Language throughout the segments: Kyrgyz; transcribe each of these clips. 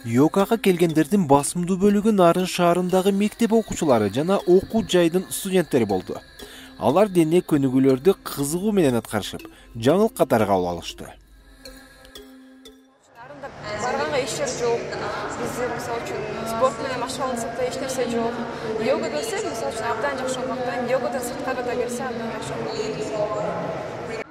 Йогага келгендердин басымдуу бөлүгү Нарын шаарындагы мектеп окуучулары жана окуу жайдын студенттери болду. Алар дене көнүгүүлөрдү кызыгуу менен аткарышып, жаңыл катары кабыл алышты. Барганга иш жок. Биздер мисалы үчүн спорт менен машыгуулансак да эч нерсе жок. Йога келсек, мисалы үчүн абдан жакшы болмактан, йогадан сырткары да келсе абдан жакшы болот.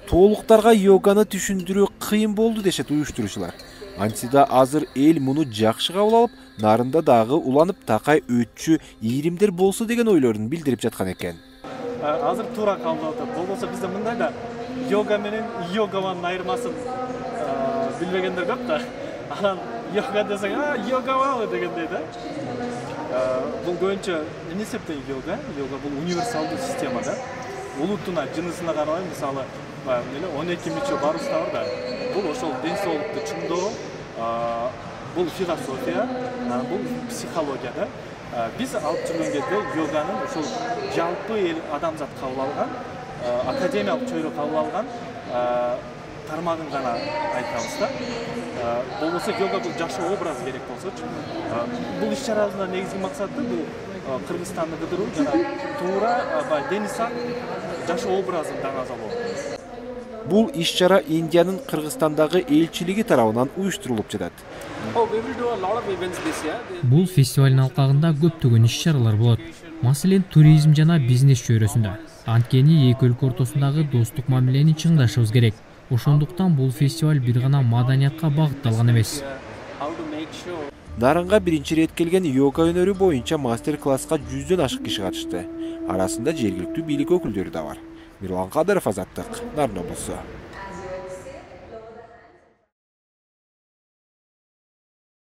Толуктарга йоганы түшүндүрүү кыйын болду дешет уюштуруучулар. Антида азыр эл муну жакшы кабыл алып, Нарында дагы уланып такай өтчү ийримдер болсо деген ойлорун билдирип жаткан экен. Азыр туура кабыл алып, болбосо бизде мындай да йога менен йогаманын айырмасын билбегендер көп да. Анан йога десең, йогабы дегендей да. Бул көбүнчө эмне септен йога? Йога бул универсалдуу система да. Улутуна, жынысына карабай, мисалы, 12 мүчө барыбызда бар да. Бул ошол ден соолукту чыңдоо, бул философия, бул психология да. Биз алып жүргөн кезде йоганын ошол жалпы эл адамзат кабыл алган, академиялык чөйрө кабыл алган тармагын гана айтабыз да. Болбосо йога бул жашоо образы керек болсочу. Бул иш-чарабыздын негизги максаты бул Кыргызстанды кыдыруу жана туура дени сак жашоо образын даңазалоо. Бул иш-чара Индиянын Кыргызстандагы элчилиги тарабынан уюштурулуп жатат. Бул фестивалдын алкагында көптөгөн иш-чаралар болот. Маселен, туризм жана бизнес чөйрөсүндө. Анткени эки өлкө ортосундагы достук мамилени чыңдашыбыз керек. Ошондуктан бул фестиваль бир гана маданиятка багытталган эмес. Нарынга биринчи ирет келген йога өнөрү боюнча мастер-класска 100дөн ашык киши катышты. Арасында жергиликтүү бийлик өкүлдөрү да бар. Мирлан Кадыров, Азаттык, Нарын облусу.